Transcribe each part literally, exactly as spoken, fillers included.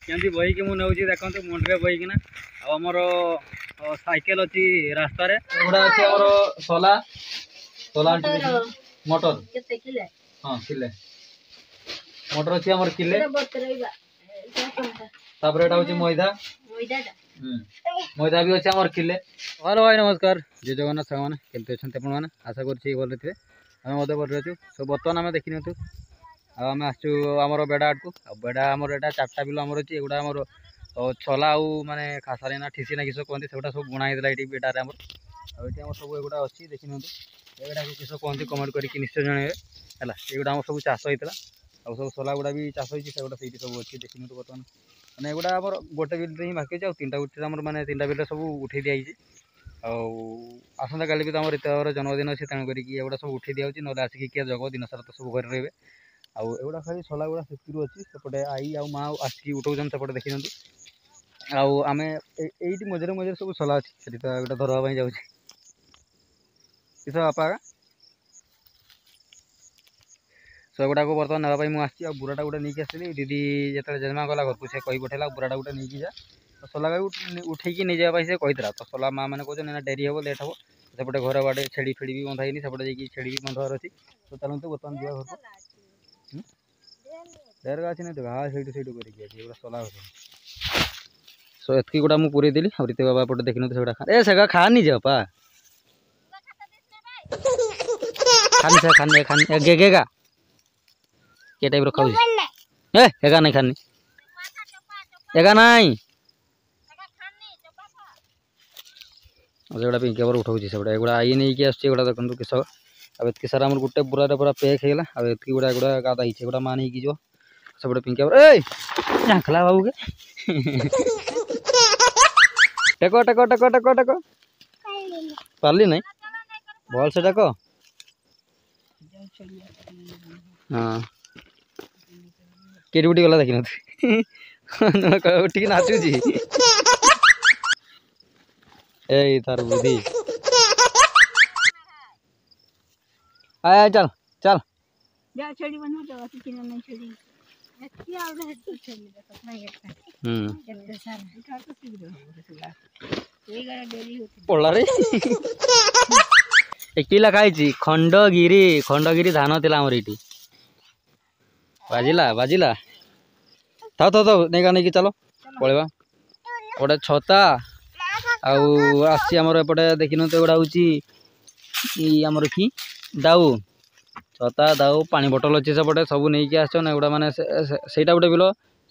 କେମିତି ବୋହିକି ମୁଁ ନେଉଛି ଦେଖନ୍ତୁ ମୁଣ୍ଡରେ ବୋହିକିନା ଆଉ ଆମର ସାଇକେଲ ଅଛି ରାସ୍ତାରେ ଏଗୁଡ଼ା ଅଛି ଆମର ସଲା ସଲା ମଟର ହଁ କିଲେ ମଟର ଅଛି ଆମର କିଲେ ତାପରେ ଏଟା ହଉଛି ମଇଦା ମଇଦା ବି ଅଛି ଆମର କିଲେ ହ୍ୟାଲୋ ଭାଇ ନମସ୍କାର ଜୟ ଜଗନ୍ନାଥ ସାଙ୍ଗମାନେ କେମିତି ଅଛନ୍ତି ଆପଣମାନେ ଆଶା କରୁଛି ଭଲରେ ଥିବେ ଆମେ ମଧ୍ୟ ଭଲରେ ଅଛୁ ସୋ ବର୍ତ୍ତମାନ ଆମେ ଦେଖିନିଅନ୍ତୁ ଆଉ ଆମେ ଆସିଛୁ ଆମର ବେଡ଼ା ଆଡ଼କୁ ଆଉ ବେଡ଼ା ଆମର ଏଇଟା ଚାରିଟା ବିଲ ଆମର ଅଛି ଏଗୁଡ଼ା ଆମର ଛଲା ଆଉ ମାନେ ଖାସାରେ ନା ଠିସି ନା କିସ କୁହନ୍ତି ସେଗୁଡ଼ା ସବୁ ବୁଣା ହେଇଥିଲା ଏଇଠି ବେଡ଼ାରେ ଆମର ଆଉ ଏଠି ଆମର ସବୁ ଏଗୁଡ଼ା ଅଛି ଦେଖିନିଅନ୍ତୁ ଏଗୁଡ଼ାକୁ କିସ କୁହନ୍ତି କମେଣ୍ଟ କରିକି ନିଶ୍ଚୟ ଜଣାଇବେ ହେଲା ଏଗୁଡ଼ା ଆମର ସବୁ ଚାଷ ହେଇଥିଲା ଆଉ ସବୁ ସଲା ଗୁଡ଼ା ବି ଚାଷ ହେଇଛି ସେଗୁଡ଼ା ସେଇଠି ସବୁ ଅଛି ଦେଖିନିଅନ୍ତୁ ବର୍ତ୍ତମାନ ମାନେ ଏଗୁଡ଼ା ଆମର ଗୋଟେ ବିଲରେ ହିଁ ବାକି ଅଛି ଆଉ ତିନିଟା ଗୋଟେ ଆମର ମାନେ ତିନିଟା ବିଲରେ ସବୁ ଉଠେଇ ଦିଆହେଇଛି ଆଉ ଆସନ୍ତାକାଲି ବି ତ ଆମର ରୀତାର ଜନ୍ମଦିନ ଅଛି ତେଣୁ କରିକି ଏଗୁଡ଼ା ସବୁ ଉଠେଇ ଦିଆହେଉଛି ନହେଲେ ଆସିକି କିଏ ଜଗ ଦିନ ସାରା ତ ସବୁ ଘରେ ରହିବେ ଆଉ ଏଗୁଡ଼ା ଖାଲି ସଲା ଗୁଡ଼ା ସେଥିରୁ ଅଛି ସେପଟେ ଆଈ ଆଉ ମା ଆସିକି ଉଠଉଛନ୍ତି ସେପଟେ ଦେଖିନିଅନ୍ତୁ ଆଉ ଆମେ ଏଇଠି ମଝିରେ ମଝିରେ ସବୁ ସଲା ଅଛି ସେଠି ତ ଗୋଟେ ଧରବା ପାଇଁ ଯାଉଛି କିସ ବାପା ସେଗୁଡ଼ାକୁ ବର୍ତ୍ତମାନ ନେବା ପାଇଁ ମୁଁ ଆସିଛି ଆଉ ବୁରାଟା ଗୋଟେ ନେଇକି ଆସିଲି ଦିଦି ଯେତେବେଳେ ଜେଜେମା ଗଲା ଘରକୁ ସେ କହି ପଠେଇଲା ବୁରାଟା ଗୋଟେ ନେଇକି ଯା ତ ସଲାକୁ ଉଠେଇକି ନେଇଯିବା ପାଇଁ ସେ କହିଥିଲା ତ ସଲା ମା ମାନେ କହୁଛନ୍ତି ନା ଡେରି ହେବ ଲେଟ୍ ହେବ ସେପଟେ ଘର ବାଡ଼େ ଛେଳି ଫେଳି ବି ବନ୍ଧା ହେଇନି ସେପଟେ ଯାଇକି ଛେଳି ବି ବନ୍ଧାବାର ଅଛି ତ ଚାଲନ୍ତୁ ବର୍ତ୍ତମାନ ଯିବା ଘରକୁ ଢେର ଅଛି ନା ତ ଘାସ ସେଇଠୁ ସେଇଠୁ କରିକି ଅଛି ଏଗୁଡ଼ା ସଲା ଗଛ ସୋ ଏତିକି ଗୁଡ଼ା ମୁଁ ପୁରେଇ ଦେଲି ଆଉ ରୀତି ବାବା ଏପଟେ ଦେଖିନୁ ସେଗୁଡ଼ା ଖା ଏ ସେଗା ଖାନି ଯେ ବାପା ଖାନି ସେ ଖାନି ଖାନି ଗେ ଗେଗା କେ ଟାଇପ୍ର ଖାଉଛି ଏ ଏଗା ନାଇଁ ଖାନି ଏଗା ନାଇଁ ସେଗୁଡ଼ା ପିଙ୍କି ଆମର ଉଠାଉଛି ସେଗୁଡ଼ା ଏଗୁଡ଼ା I ନେଇକି ଆସୁଛି ଏଗୁଡ଼ା ଦେଖନ୍ତୁ କିସ ଆଉ ଏତିକି ସାରା ଆମର ଗୋଟେ ବୁରାରେ ପୁରା ପ୍ୟାକ୍ ହେଇଗଲା ଆଉ ଏତିକି ଗୁଡ଼ା ଏଗୁଡ଼ା ଗାଦା ହେଇଛି ଏଗୁଡ଼ା ମା ନେଇକି ଯିବ ସେପଟେ ପିଙ୍କି ଆମର ଏଇ ଝାଙ୍କଲା ବାବୁ କେ ଟେକ ଟେକ ଟେକ ଟେକ ଟେକ ପାରିଲି ନାଇଁ ଭଲସେ ଟେକ ହଁ କେରି ଉଠି ଗଲା ଦେଖିନୁ ଉଠିକି ନାଚୁଛି ଏଇ ତାର ବୁଦ୍ଧି आय आय चल चल जा छड़ी बनो जाओ कि नहीं छड़ी एती आउडे हेतु छड़ी देखो नहीं एता हम्म केते सारा इटा तो शीघ्र हो एई गाड़ा डेरी होती ପଡଲା ରେ ଏ ଲେଖା ହେଇଛି ଖଣ୍ଡଗିରି ଖଣ୍ଡଗିରି ଧାନ ଥିଲା ଆମର ଏଇଠି ବାଜିଲା ବାଜିଲା ଥାଉ ଥାଉ ଥାଉ ନେଇକା ନେଇକି ଚାଲ ପଳେଇବା ଗୋଟେ ଛତା ଆଉ ଆସିଛି ଆମର ଏପଟେ ଦେଖିନିଅନ୍ତୁ ଏଗୁଡ଼ା ହେଉଛି ଆମର କି ଦାଉ ଛତା ଦାଉ ପାଣି ବୋଟଲ ଅଛି ସେପଟେ ସବୁ ନେଇକି ଆସିଛନ୍ ଏଗୁଡ଼ା ମାନେ ସେଇଟା ଗୋଟେ ବିଲ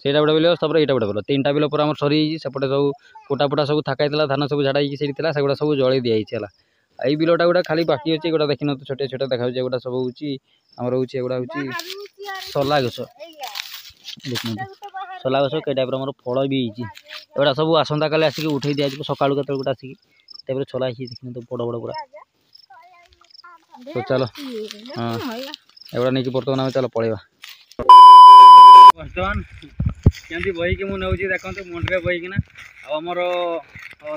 ସେଇଟା ଗୋଟେ ବିଲ ତାପରେ ଏଇଟା ଗୋଟେ ବିଲ ତିନିଟା ବିଲ ପୁରା ଆମର ସରିଯାଇଛି ସେପଟେ ସବୁ କୁଟା ଫୁଟା ସବୁ ଥାକା ହେଇଥିଲା ଧାନ ସବୁ ଝାଡ଼ା ହେଇକି ସେଇଠି ଥିଲା ସେଗୁଡ଼ା ସବୁ ଜଳେଇ ଦିଆହେଇଛି ହେଲା ଏଇ ବିଲଟା ଗୋଟେ ଖାଲି ବାକି ଅଛି ଏଗୁଡ଼ା ଦେଖିନିଅନ୍ତୁ ଛୋଟିଆ ଛୋଟିଆ ଦେଖାଯାଉଛି ଏଗୁଡ଼ା ସବୁ ହେଉଛି ଆମର ହେଉଛି ଏଗୁଡ଼ା ହେଉଛି ସଲା ଗଛ ଦେଖିନିଅନ୍ତୁ ସଲା ଗଛ କେ ଟାଇପ୍ର ଆମର ଫଳ ବି ହେଇଛି ଏଗୁଡ଼ା ସବୁ ଆସନ୍ତାକାଲି ଆସିକି ଉଠେଇ ଦିଆଯିବ ସକାଳୁ କେତେବେଳେ ଗୋଟେ ଆସିକି ଟାଇପ୍ର ଛଲା ହେଇଛି ଦେଖିନିଅନ୍ତୁ ବଡ଼ ବଡ଼ ପୁରା ତ ଚାଲ ହଁ ଏଗୁଡ଼ା ନେଇକି ବର୍ତ୍ତମାନ ଆମେ ଚାଲ ପଳେଇବା ବର୍ତ୍ତମାନ କେମିତି ବୋହିକି ମୁଁ ନେଉଛି ଦେଖନ୍ତୁ ମୁଣ୍ଡରେ ବୋହିକିନା ଆଉ ଆମର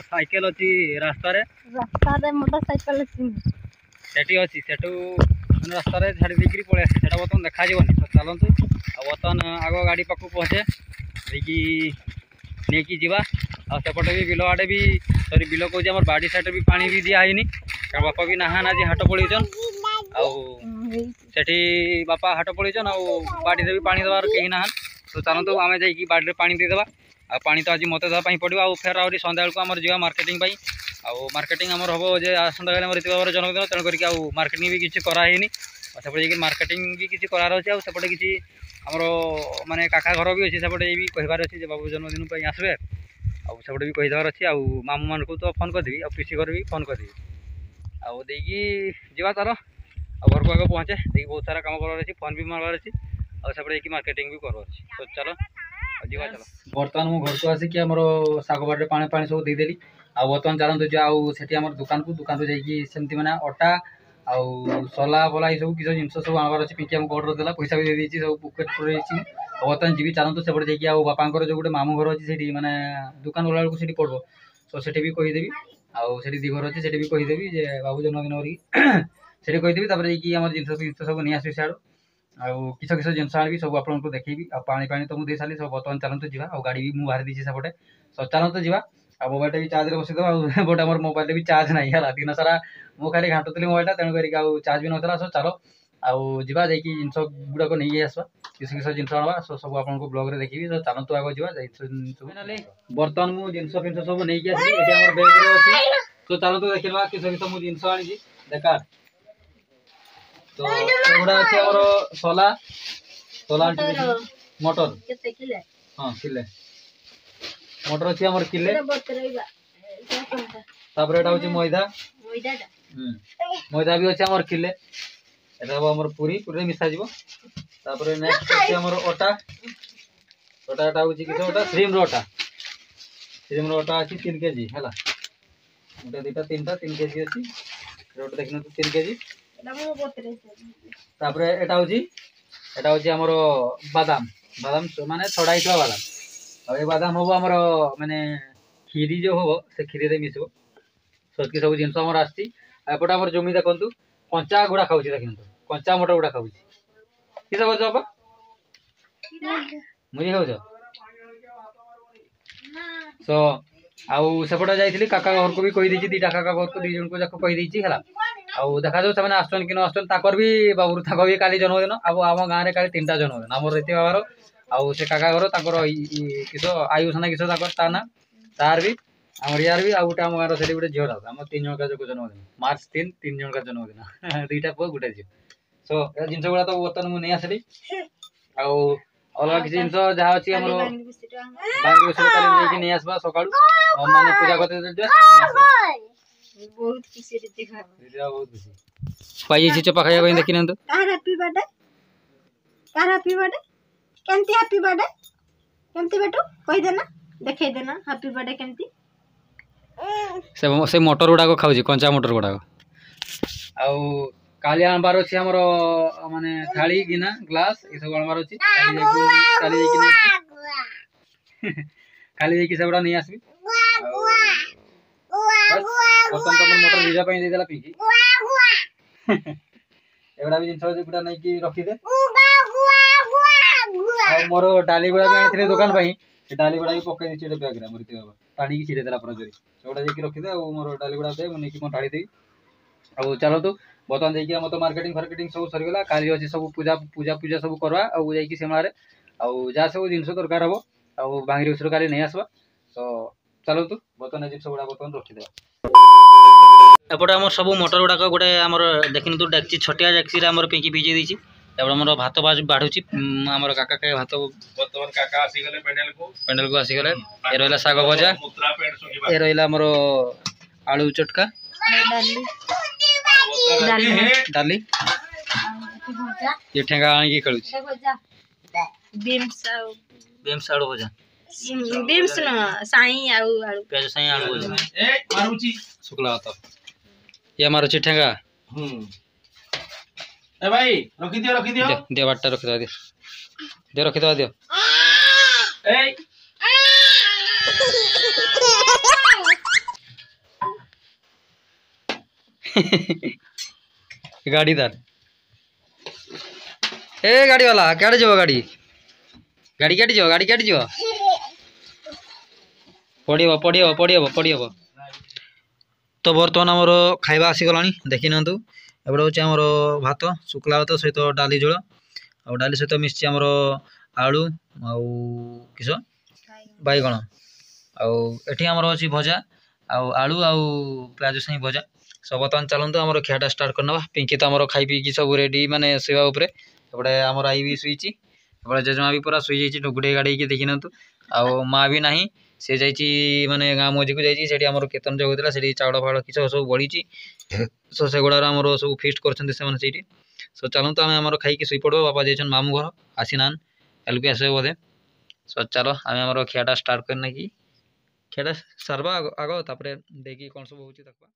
ସାଇକେଲ ଅଛି ରାସ୍ତାରେ ରାସ୍ତାରେ ମୋଟର ସାଇକେଲ ଅଛି ସେଠି ଅଛି ସେଠୁ ମାନେ ରାସ୍ତାରେ ଛାଡ଼ି ଦେଇକିରି ପଳେଇ ଆସିଛି ସେଟା ବର୍ତ୍ତମାନ ଦେଖାଯିବନି ତ ଚାଲନ୍ତୁ ଆଉ ବର୍ତ୍ତମାନ ଆଗ ଗାଡ଼ି ପାଖକୁ ପହଞ୍ଚେ ଦେଇକି ନେଇକି ଯିବା ଆଉ ସେପଟେ ବି ବିଲ ଆଡ଼େ ବି ସରି ବିଲ କହୁଛି ଆମର ବାଡ଼ି ସାଇଡ଼୍ରେ ବି ପାଣି ବି ଦିଆ ହେଇନି କାରଣ ବାପା ବି ନାହାନ୍ ଆଜି ହାଟ ପଳେଇଛନ୍ ଆଉ ସେଠି ବାପା ହାଟ ପଳେଇଛନ୍ ଆଉ ବାଡ଼ିରେ ବି ପାଣି ଦେବାର କେହି ନାହାନ୍ ତ ଚାଲନ୍ତୁ ଆମେ ଯାଇକି ବାଡ଼ିରେ ପାଣି ଦେଇଦେବା ଆଉ ପାଣି ତ ଆଜି ମୋତେ ଦେବା ପାଇଁ ପଡ଼ିବ ଆଉ ଫେର ଆହୁରି ସନ୍ଧ୍ୟାବେଳକୁ ଆମର ଯିବା ମାର୍କେଟିଂ ପାଇଁ ଆଉ ମାର୍କେଟିଂ ଆମର ହେବ ଯେ ଆସନ୍ତାକାଲି ଆମର ରୀତି ବାବାର ଜନ୍ମଦିନ ତେଣୁ କରିକି ଆଉ ମାର୍କେଟିଂ ବି କିଛି କରାହେଇନି ଆଉ ସେପଟେ ଯାଇକି ମାର୍କେଟିଂ ବି କିଛି କରାର ଅଛି ଆଉ ସେପଟେ କିଛି ଆମର ମାନେ କାକା ଘର ବି ଅଛି ସେପଟେ ବି କହିବାର ଅଛି ଯେ ବାବୁ ଜନ୍ମଦିନ ପାଇଁ ଆସିବେ ଆଉ ସେପଟେ ବି କହିଦେବାର ଅଛି ଆଉ ମାମୁଁମାନଙ୍କୁ ତ ଫୋନ୍ କରିଦେବି ଆଉ ପିସି ଘର ବି ଫୋନ୍ କରିଦେବି ଆଉ ଦେଇକି ଯିବା ତାର ଆଉ ଘରକୁ ଆଗ ପହଞ୍ଚେ ଦେଇକି ବହୁତ ସାରା କାମ କରିବାର ଅଛି ଫୋନ୍ ବି ମାରିବାର ଅଛି ଆଉ ସେପଟେ ଯାଇକି ମାର୍କେଟିଂ ବି କରିବାର ଅଛି ତ ଚାଲ ଯିବା ଚାଲ ବର୍ତ୍ତମାନ ମୁଁ ଘରକୁ ଆସିକି ଆମର ଶାଗ ବାଡ଼ିରେ ପାଣି ପାଣି ସବୁ ଦେଇଦେଲି ଆଉ ବର୍ତ୍ତମାନ ଚାଲନ୍ତୁ ଯିବା ଆଉ ସେଠି ଆମର ଦୋକାନକୁ ଦୋକାନରୁ ଯାଇକି ସେମିତି ମାନେ ଅଟା ଆଉ ସଲା ଫଲା ଏସବୁ କିଛି ଜିନିଷ ସବୁ ଆଣିବାର ଅଛି ପିଙ୍କି ଆମକୁ ଅର୍ଡ଼ର ଦେଲା ପଇସା ବି ଦେଇଦେଇଛି ସବୁ ପକେଟ୍ ପୁରେଇଛି ଆଉ ବର୍ତ୍ତମାନ ଯିବି ଚାଲନ୍ତୁ ସେପଟେ ଯାଇକି ଆଉ ବାପାଙ୍କର ଯେଉଁ ଗୋଟେ ମାମୁଁ ଘର ଅଛି ସେଇଠି ମାନେ ଦୋକାନ ଗଲା ବେଳକୁ ସେଇଠି ପଡ଼ିବ ତ ସେଠି ବି କହିଦେବି ଆଉ ସେଠି ଦୁଇ ଘର ଅଛି ସେଠି ବି କହିଦେବି ଯେ ବାବୁ ଜନ୍ମଦିନ କରିକି ସେଠି କହିଦେବି ତାପରେ ଯାଇକି ଆମର ଜିନିଷ ଜିନିଷ ସବୁ ନେଇ ଆସିବି ସିଆଡ଼ୁ ଆଉ କିସ କିସ ଜିନିଷ ଆଣିବି ସବୁ ଆପଣଙ୍କୁ ଦେଖେଇବି। ଆଉ ପାଣି ପାଣି ତ ମୁଁ ଦେଇ ସାରିଲି। ସବୁ ବର୍ତ୍ତମାନ ଚାଲନ୍ତୁ ଯିବା। ଆଉ ଗାଡ଼ି ବି ମୁଁ ବାହାରି ଦେଇଛି ସେପଟେ। ସୋ ଚାଲନ୍ତୁ ଯିବା। ଆଉ ମୋବାଇଲଟା ବି ଚାର୍ଜରେ ବସେଇଦେବା। ଆଉ ଗୋଟେ ଆମର ମୋବାଇଲରେ ବି ଚାର୍ଜ ନାହିଁ ହେଲା। ଦିନ ସାରା ମୁଁ ଖାଲି ଘାଣ୍ଟୁଥିଲି ମୋବାଇଲଟା, ତେଣୁ କରିକି ଆଉ ଚାର୍ଜ ବି ନଥିଲା। ସୋ ଚାଲ ଆଉ ଯିବା, ଯାଇକି ଜିନିଷ ଗୁଡ଼ାକ ନେଇକି ଆସିବା। କିସ କିସ ଜିନିଷ ଆଣିବା ସବୁ ଆପଣଙ୍କୁ ବ୍ଲଗରେ ଦେଖିବି। ତ ଚାଲନ୍ତୁ ଆଗ ଯିବା ଜିନିଷ ସବୁ। ବର୍ତ୍ତମାନ ମୁଁ ଜିନିଷ ଫିନିଷ ସବୁ ନେଇକି ଆସିଲି, ଏଠି ଆମର ବ୍ୟାଗରେ ଅଛି। ତ ଚାଲନ୍ତୁ ଦେଖିବା କିସ କିସ ମୁଁ ଜିନିଷ ଆଣିଛି। ଦେଖା ତ, ଏଗୁଡ଼ା ଅଛି ଆମର ସୋଲା, ସୋଲା ମଟର। ହଁ, କିଲେ ମଟର ଅଛି ଆମର କିଲେ। ତାପରେ ଏଟା ହଉଛି ମଇଦା, ମଇଦା ବି ଅଛି ଆମର କିଲେ। ଏଟା ହବ ଆମର ପୁରୀ, ପୁରୀରେ ମିଶାଯିବ। ତାପରେ ନେକ୍ସଟ ଅଛି ଆମର ଅଟା। ଅଟା ଏଟା ହଉଛି କିସ ଅଟା? ଶ୍ରୀମର ଅଟା। ଶ୍ରୀମର ଅଟା ଅଛି ତିନି କେଜି ହେଲା। ଗୋଟେ, ଦୁଇଟା, ତିନିଟା, ତିନି କେଜି ଅଛି। ଗୋଟେ ଦେଖିନିଅନ୍ତୁ, ତିନି କେଜି। ତାପରେ ଏଟା ହଉଛି ଏଟା ହଉଛି ଆମର ବାଦାମ। ବାଦାମ ମାନେ ଛଡ଼ା ହେଇଥିବା ବାଦାମ। ଆଉ ଏ ବାଦାମ ହବ ଆମର ମାନେ କ୍ଷୀରି ଯୋଉ ହବ, ସେ କ୍ଷୀରିରେ ମିଶିବ। ସେତିକି ସବୁ ଜିନିଷ ଆମର ଆସିଛି। ଆଉ ଏପଟେ ଆମର ଜମି ଦେଖନ୍ତୁ, କଞ୍ଚା ଗୁଡ଼ା ଖାଉଛି। ଦେଖନ୍ତୁ, କଞ୍ଚା ମଟର ଗୁଡ଼ା ଖାଉଛି। କିସ କରୁଛ ବାପା? ମୁଢ଼ି ଖାଉଛ? ତ ଆଉ ସେପଟେ ଯାଇଥିଲି କାକା ଘରକୁ ବି କହିଦେଇଛି, ଦିଟା କାକା ଘରକୁ, ଦି ଜଣଙ୍କୁ ଯାକ କହିଦେଇଛି ହେଲା। ଆଉ ଦେଖାଯାଉ ସେମାନେ ଆସୁଛନ୍ତି କି ନ ଆସୁଛନ୍ତି। ତାଙ୍କର ବି ବାବୁର, ତାଙ୍କ ବି କାଲି ଜନ୍ମଦିନ। ଆଉ ଆମ ଗାଁରେ କାଲି ତିନିଟା ଜନ୍ମଦିନ, ଆମର ରୀତି ବାବାର ଆଉ ସେ କାକା ଘର, ତାଙ୍କର କିସ ଆୟୁଷ ନା କିସ ତାଙ୍କର ତା ନା, ତାର ବି, ଆମର ୟାର ବି, ଆଉ ଗୋଟେ ଆମ ଗାଁର ସେଠି ଗୋଟେ ଝିଅଟା। ଆମ ତିନି ଜଣଙ୍କ ଯାକ ଜନ୍ମଦିନ ମାର୍ଚ୍ଚ ତିନି, ତିନି ଜଣଙ୍କ ଜନ୍ମଦିନ, ଦୁଇଟା ପୁଅ ଗୋଟେ ଝିଅ। ସୋ ଏ ଜିନିଷ ଗୁଡ଼ା ତ ବର୍ତ୍ତମାନ ମୁଁ ନେଇ ଆସିଲି। ଆଉ ଅଲଗା କିଛି ଜିନିଷ ଯାହା ଅଛି ଆମର ବାଙ୍ଗିରି କାଲି ଯାଇକି ନେଇ ଆସିବା ସକାଳୁ, ମାନେ ପୂଜା କରତେ। ବହୁତ ଖୁସି, ବହୁତ ଖୁସି ପାଇଯାଇଛି ଚପା ଖାଇବା ପାଇଁ। ଦେଖି ନିଅନ୍ତୁ। କାହାର ହାପି ବର୍ଥଡେ? କାହାର ହାପି ବର୍ଥଡେ? କେମିତି ହାପି ବର୍ଥଡେ କେମିତି ବେଟୁ? କହିଦେ ନା, ଦେଖେଇ ଦେ ନା ହାପି ବର୍ଥଡେ କେମିତି। ସେ ସେ ମଟର ଗୁଡ଼ାକ ଖାଉଛି, କଞ୍ଚା ମଟର ଗୁଡ଼ାକ। ଆଉ କାଲି ଆଣିବାର ଅଛି ଆମର ମାନେ ଥାଳି, ଗିନା, ଗ୍ଲାସ ଏସବୁ ଆଣିବାର ଅଛି। କାଲି ଯାଇକି କାଲି ଯାଇକି କାଲି ଯାଇକି ସେଗୁଡ଼ା ନେଇ ଆସିବି। ବର୍ତ୍ତମାନ ତମର ମଟର ଭିଜା ପାଇଁ ଦେଇଦେଲା ପିଙ୍କି। ଏଗୁଡ଼ା ବି ଜିନିଷ ଗୁଡ଼ା ନେଇକି ରଖିଦେ। ଆଉ ମୋର ଡାଲି ଗୁଡ଼ା ବି ଆଣିଥିଲି ଦୋକାନ ପାଇଁ, ସେ ଡାଲି ଗୁଡ଼ା ବି ପକେଇ ଦେଇଛି ଗୋଟେ ବ୍ୟାଗରେ। ଆମର ବାବା ଟାଣିକି ଛିଡ଼େଇ ଦେଲା ପୁରା ଜୋରେ। ସେଗୁଡ଼ା ଯାଇକି ରଖିଦେ। ଆଉ ମୋର ଡାଲି ଗୁଡ଼ା ଦେ, ମୁଁ ନେଇକି କଣ ଢାଳି ଦେବି। ଆଉ ଚାଲନ୍ତୁ ବର୍ତ୍ତମାନ ଯାଇକି ଆମର ତ ମାର୍କେଟିଂ ଫାର୍କେଟିଂ ସବୁ ସରିଗଲା। କାଲି ଅଛି ସବୁ ପୂଜା ପୂଜା ପୂଜା ସବୁ କରିବା। ଆଉ ଯାଇକି ସିମଳାରେ ଆଉ ଯାହା ସବୁ ଜିନିଷ ଦରକାର ହବ ଆଉ ବାଙ୍ଗିରି ଉଷରୁ କାଲି ନେଇ ଆସିବା। ତ ଚାଲନ୍ତୁ, ବର୍ତ୍ତମାନ ଜିନିଷ ଗୁଡ଼ା ବର୍ତ୍ତମାନ ରଖିଦେବା। ଏପଟେ ଆମର ସବୁ ମଟର ଗୁଡ଼ାକ ଗୋଟେ ଆମର ଦେଖିନିଅନ୍ତୁ ଡେକ୍ଚି, ଛୋଟିଆ ଡେକ୍ଚିରେ ଆମର ପିଙ୍କି ଭିଜେଇ ଦେଇଛି। ତାପରେ ଆମର ଭାତ ବାଢ଼ୁଛି ଆମର କାକା। ଖାଏ ଭାତ। ବର୍ତ୍ତମାନ କାକା ଆସିଗଲେ ପେଣ୍ଡାଲକୁ। ପେଣ୍ଡାଲକୁ ଆସିଗଲେ। ଏ ରହିଲା ଶାଗ ଭଜା, ଏ ରହିଲା ଆମର ଆଳୁ ଚଟକା, ଡାଲି। ଇଏ ଠେଙ୍ଗା ଆଣିକି ଖେଳୁଛି। ବିମ୍ସ ଆଉ ବିମ୍ସ ଆଳୁ ଭଜା। ବିମ୍ସ ନୁହଁ, ସାଇଁ ଆଉ ଆଳୁ। ପିଆଜ, ସାଇଁ, ଆଳୁ ଭଜା, ଶୁଖଲା ଭାତ। ଇଏ ମାରୁଛି ଠେଙ୍ଗା। ଏ ଭାଇ, ରଖିଦିଅ, ରଖିଦିଅ। ଦିଅ, ବାଟଟା ରଖିଦେବା, ଦିଅ, ଦିଅ, ରଖିଦେବା, ଦିଅ। ଏଇ ଗାଡ଼ି ତାର। ଏ ଗାଡ଼ି ବାଲା କ୍ୟାଡ଼େ ଯିବ? ଗାଡ଼ି ଗାଡ଼ି କାଟି ଯିବ, ଗାଡ଼ି କାଟି ଯିବ, ପଡ଼ିବ, ପଡ଼ିବ, ପଡ଼ିବ, ପଡ଼ିବ। ତ ବର୍ତ୍ତମାନ ଆମର ଖାଇବା ଆସିଗଲାଣି, ଦେଖି ନିଅନ୍ତୁ। ଏପଟେ ହେଉଛି ଆମର ଭାତ, ଶୁଖିଲା ଭାତ ସହିତ ଡାଲି ଝୋଳ। ଆଉ ଡାଲି ସହିତ ମିଶିଛି ଆମର ଆଳୁ ଆଉ କିସ ବାଇଗଣ। ଆଉ ଏଠି ଆମର ଅଛି ଭଜା ଆଉ ଆଳୁ ଆଉ ପିଆଜ ସାଇଁ ଭଜା। ସो ବର୍ତ୍ତମାନ ଚାଲନ୍ତୁ ଆମର ଖିଆଟା ଷ୍ଟାର୍ଟ କରିନେବା। ପିଙ୍କି ତ ଆମର ଖାଇ ପିଇକି ସବୁ ରେଡ଼ି, ମାନେ ଶୋଇବା ଉପରେ। ଏପଟେ ଆମର ଆଈ ବି ଶୋଇଛି, ଏପଟେ ଜେଜେମା ବି ପୁରା ଶୋଇଯାଇଛି ଗୁଡ଼େଇ ଗାଡ଼େଇକି, ଦେଖି ନିଅନ୍ତୁ। ଆଉ ମା ବି ନାହିଁ, ସେ ଯାଇଛି ମାନେ ଗାଁ ମଝିକୁ ଯାଇଛି। ସେଠି ଆମର କୀର୍ତ୍ତନ ଯୋଉ ହେଉଥିଲା, ସେଠି ଚାଉଳ ଫାଉଳ କିଛି ସବୁ ବଳିଛି। ସୋ ସେଗୁଡ଼ାର ଆମର ସବୁ ଫିଷ୍ଟ କରୁଛନ୍ତି ସେମାନେ ସେଇଠି। ସୋ ଚାଲନ୍ତୁ ଆମେ ଆମର ଖାଇକି ଶୋଇପଡ଼ିବ। ବାପା ଯାଇଛନ୍ତି ମାମୁଁ ଘର, ଆସିନାହାନ୍ତି, କାଲିକୁ ଆସିବେ ବୋଧେ। ସୋ ଚାଲ ଆମେ ଆମର ଖିଆଟା ଷ୍ଟାର୍ଟ କରିନେଇକି ଖିଆଟା ସାରବା ଆଗ, ଆଗ ତାପରେ ଦେଇକି କ'ଣ ସବୁ ହେଉଛି ଦେଖିବା।